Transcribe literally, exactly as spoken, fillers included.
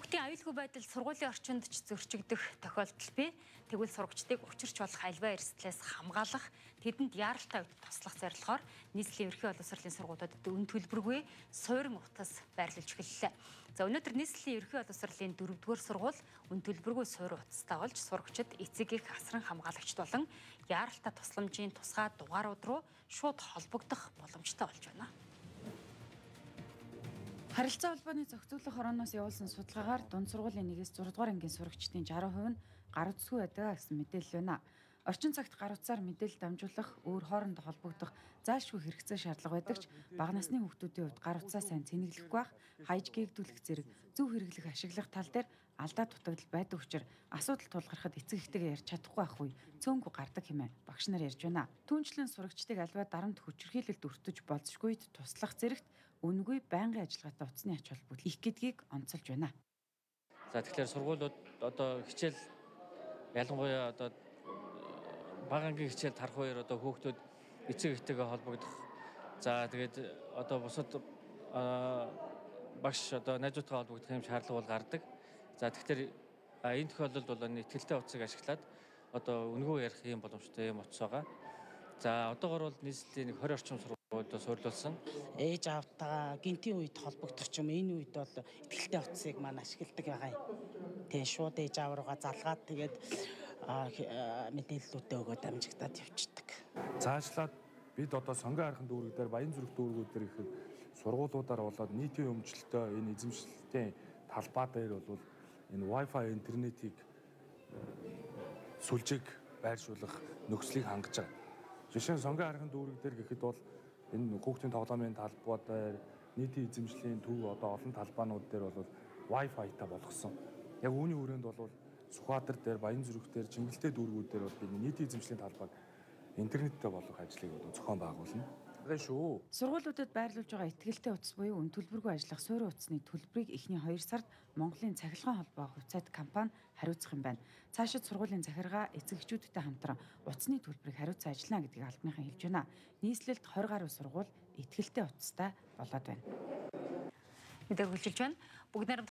Хүүхдийн аюулгүй байдал сургуулийн орчинд ч зөрчигдөх тохиолдол бий. Тэгвэл сурагчдыг учирч болох альва эрсдлээс хамгаалах, тэдэнд яаралтай үед туслах зорилгоор нийслэлийн ерхий боловсролын сургуулиудад өн төлбөргүй суурин утас байрлуулж эхэллээ. За өнөөдөр нийслэлийн ерхий боловсролын дөрөвдүгээр сургууль өн төлбөргүй суурин утастай болж сурагчид эцэг их асран хамгаалагчд болон яаралтай тусламжийн тусгай дугаарууд руу шууд холбогдох боломжтой болж байна. Харилцаа холбооны зохицуулах хорооноос явуулсан судалгаагаар дунд сургуулийн нэгээс зургаадугаар ангийн сурагчдын шарх хувь нь гар утасгүй байдаг гэсэн мэдээлэл байна. Орчин цагт гар утсаар мэдээлэл дамжуулах, өөр хоорондоо холбогдох зайлшгүй хэрэгцээ шаардлага байдаг ч бага насны хүүхдүүдийн хувьд гар утсаа сайн цэнэглэхгүй байх, хаяж гээгдүүлэх зэрэг зөв хэрэглэх, ашиглах тал дээр алдаа дутагдал байдаг учраас асуудал тулгархад эцэг эхтэйгээ ярьж чадахгүй байх үе цөөнгүй гардаг хэмээн багш нар ярьж байна. Түүнчлэн сурагчдыг альва дарамт хүчирхийлэлд өртөж болзошгүйд туслах зэрэгт үнэгүй байнгын ажиллагаатай утасны ач холбогдол их гэдгийг онцолж байна. За тэгэхээр сургуулиуд одоо хичээл ялангуяа одоо бага ангийн хичээл тарах үеэр одоо хүүхдүүд эцэг эхтэйгээ холбогдох. За тэгээд одоо бусад багш одоо найзуудтай холбогдох юм шаардлага бол гардаг. За тэгэхээр энэ тохиолдолд бол итгэлтэй утсыг ашиглаад одоо үнэгүй ярих юм боломжтой юм утас байгаа. За одоогор бол нийслэлийн нэг двадцать орчим сургуульд суурилуулсан. Ээж аавтайгаа гинтийн үед холбогдох юм энэ үед бол итгэлтэй утсыг маань ашигладаг байгаа юм. Тэгээ шууд ээж аав руугаа залгаад тэгээд мэдээллүүдээ өгөөд амжигдаад явчихдаг. Цаашлаад бид одоо сонгон хархан дүүрэг дээр Баян зүрх дүүргүүд дээр их сургуулиудаар болоод нийтийн өмчлөлтөө энэ эзэмшлэлтийн талбай дээр бол энэ Wi-Fi интернетийг сүлжээг байршуулах нөхцөлийг хангаж байгаа. Жишээ нь сонгон хархан дүүрэг дээр гэхэд бол энэ хүүхдийн тоглоомын талбай дээр нийтийн эзэмшлийн төв одоо олон талбаанууд дээр бол Wi-Fi-та болгосон. Яг үүний хүрээнд бол Сүхбаатар дээр, Баян зүрх дээр, Чингэлтэй дүүргүүд дээр бол бид нийтийн эзэмшлийн талбайг интернеттэй болгох ажлыг бол зохион байгуулна. Тэгээ шүү. Сургуулиудад байрлуулж байгаа итгэлтэй утас буюу өн төлбөргүй ажиллах суурин утасны төлбөрийг эхний хоёр сард Монголын цахилгаан холбоо хувьцаат компани хариуцах юм байна. Цаашид сургуулийн захиргаа эцэг эхчүүдтэй хамтран утасны төлбөрийг хариуцсан ажиллана гэдгийг албаныхан хэлж байна. Нийслэлд двадцать гаруй сургууль итгэлтэй утастай болоод байна. Мэдээ хүлжилж байна. Бүгд